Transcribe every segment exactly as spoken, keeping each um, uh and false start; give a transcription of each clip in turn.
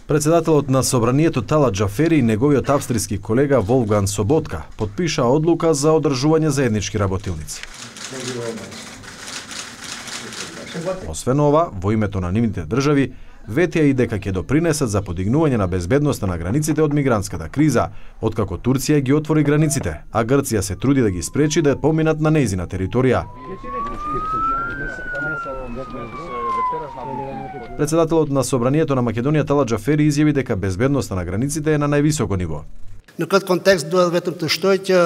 Председателот на Собранието Талат Џафери и неговиот австријски колега Волфганг Соботка потпиша одлука за одржување заеднички работилници. Освен ова, во името на нивните држави, ветија и дека ќе допринесат за подигнување на безбедноста на границите од мигрантската криза, откако Турција ги отвори границите, а Грција се труди да ги спречи да поминат на нејзина територија. Председателот на Собранието на Македонија Талат Џафери изјави дека безбедноста на границите е на највисоко ниво. Në këtë kontekst duhet vetëm të shtoj që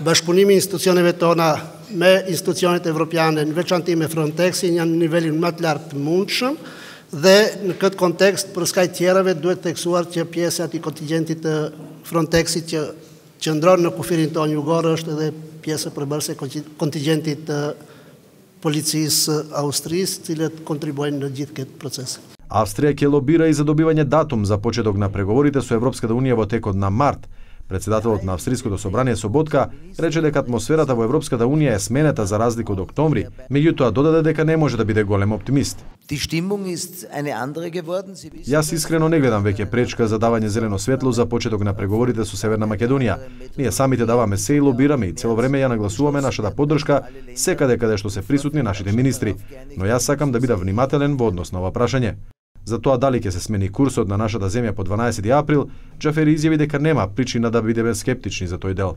bashkëpunimi i institucioneve tona me institucionet evropiane, në veçanti me Frontexin, janë në nivelin më të lartë të mundshëm dhe në këtë kontekst për skaj tjerave duhet theksuar që pjesa e kontingjentit të Frontexit që qëndron në kufirin tonë jugor është edhe pjesë përbërëse e kontingjentit të policisë Austrisë, cilët kontribuojnë në gjithë këtë proces. Австрија ќе лобира и за добивање датум за почеток на преговорите со Европската унија во текот на март. Председателот на Австријското собрание Соботка рече дека атмосферата во Европската унија е сменета за разлика од октомври, меѓутоа додаде дека не може да биде голем оптимист. Јас искрено не гледам веќе пречка за давање зелено светло за почеток на преговорите со Северна Македонија. Ние самите даваме се и лобираме и цело време ја нагласуваме нашата поддршка секаде каде што се присутни нашите министри, но јас сакам да бидам внимателен во однос на ова прашање. За тоа дали ќе се смени курсот на нашата земја по дванаесети април, Џафери изјави дека нема причина да бидеме скептични за тој дел.